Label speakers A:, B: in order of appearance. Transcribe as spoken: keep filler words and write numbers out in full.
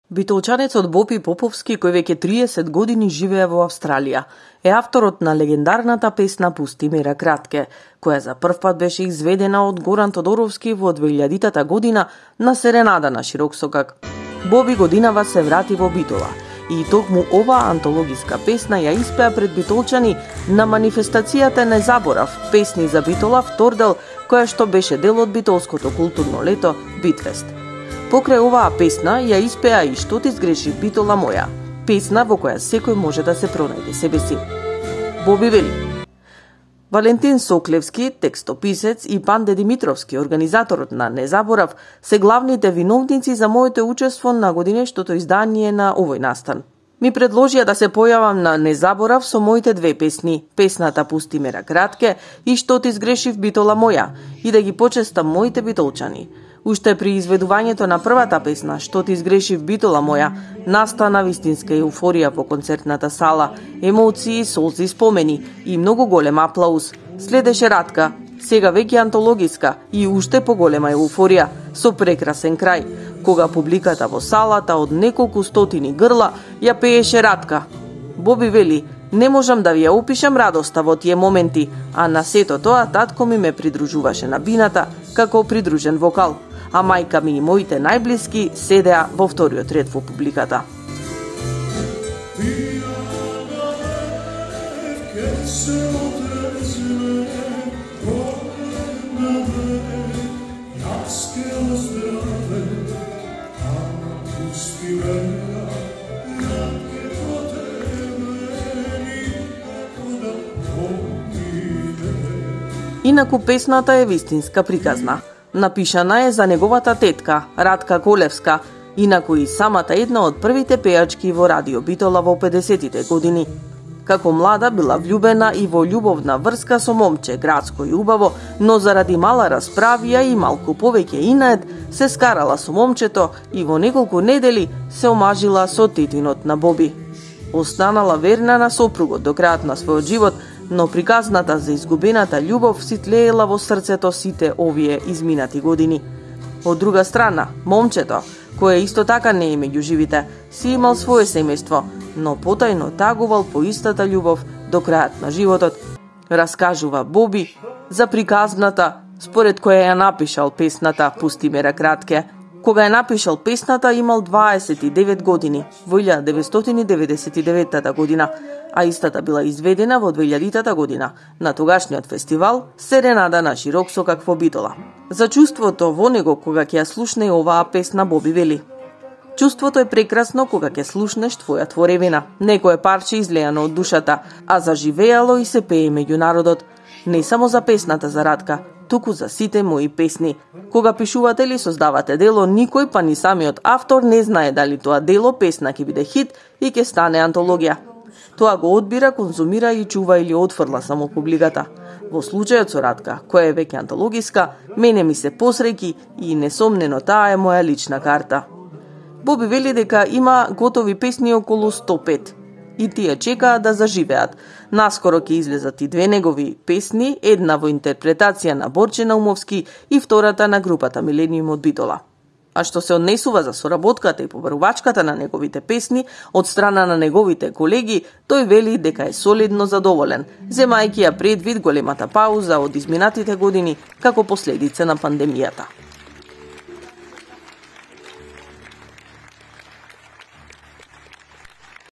A: Битолчанецот Бопи Поповски, кој веќе триесет години живее во Австралија, е авторот на легендарната песна "Пусти ме ракратке", која за прв пат беше изведена од Горан Тодоровски во две илјадитата година на серенада на широк сокак. Боби годинава се врати во Битола и токму оваа антологиска песна ја испеа пред битолчани на манифестацијата "Не заборав" песни за Битола втор дел, која што беше дел од битолското културно лето Битфест. Покрај оваа песна ја испеа и "Што ти сгреши Битола моја", песна во која секој може да се пронајде себе си. Боби вели: Валентин Соклевски, текстописец, и Панде Димитровски, организаторот на "Не заборав", се главните виновници за моето учество на годинештото издание на овој настан. Ми предложија да се појавам на "Не заборав" со моите две песни, песната "Пусти ме ракратке" и "Што ти сгрешив Битола моја", и да ги почестам моите битолчани. Уште при изведувањето на првата песна "Што ти сгрешив Битола моја", настана вистинска еуфорија во концертната сала, емоции, солзи, спомени и многу голем аплауз. Следеше Ратка, сега веќе антологиска и уште поголема еуфорија, со прекрасен крај, кога публиката во салата од неколку стотини грла ја пееше Ратка. Боби вели: "Не можам да ви ја опишам радоста во тие моменти, а на сето тоа татко ми ме придружуваше на бината како придружен вокал, а мајка ми и моите најблиски седеа во вториот ред во публиката." Инаку песната е вистинска приказна. Напишана е за неговата тетка, Ратка Колевска, инаку и самата една од првите пејачки во Радио Битола во педесетите години. Како млада била влюбена и во љубовна врска со момче, градско и убаво, но заради мала расправија и малку повеќе инает, се скарала со момчето и во неколку недели се омажила со тетинот на Боби. Останала верна на сопругот до крајот на својот живот, но приказната за изгубената љубов си тлеела во срцето сите овие изминати години. Од друга страна, момчето, кое исто така не е меѓу живите, си имал свое семејство, но потајно тагувал по истата љубов до крајот на животот, раскажува Боби за приказната според која ја напишал песната "Пусти ме ракратке". Кога ја напишал песната имал дваесет и девет години, во илјада деветстотини деветдесет и деветта година, а истата била изведена во две илјадитата година на тогашниот фестивал Серенада на широк сокак во Битола. За чувството во него кога ќе ја слушне оваа песна Боби вели: "Чувството е прекрасно кога ќе слушнеш твоја творевина, некое парче излеано од душата, а заживеало и се пее меѓу народот. Не само за песната за Ратка, туку за сите мои песни. Кога пишувате или создавате дело, никој па ни самиот автор не знае дали тоа дело песна ќе биде хит и ќе стане антологија. Тоа го одбира, конзумира и чува или отфрла само публиката. Во случајот со Ратка, која е веќе антологиска, мене ми се посреќи и несомнено таа е моја лична карта." Боби вели дека има готови песни околу сто и пет и тие чекаат да заживеат. Наскоро ќе излезат и две негови песни, една во интерпретација на Борче Наумовски и втората на групата Милениум од Битола. А што се однесува за соработката и побарувачката на неговите песни од страна на неговите колеги, тој вели дека е солидно задоволен, земајќи ја предвид големата пауза од изминатите години како последица на пандемијата.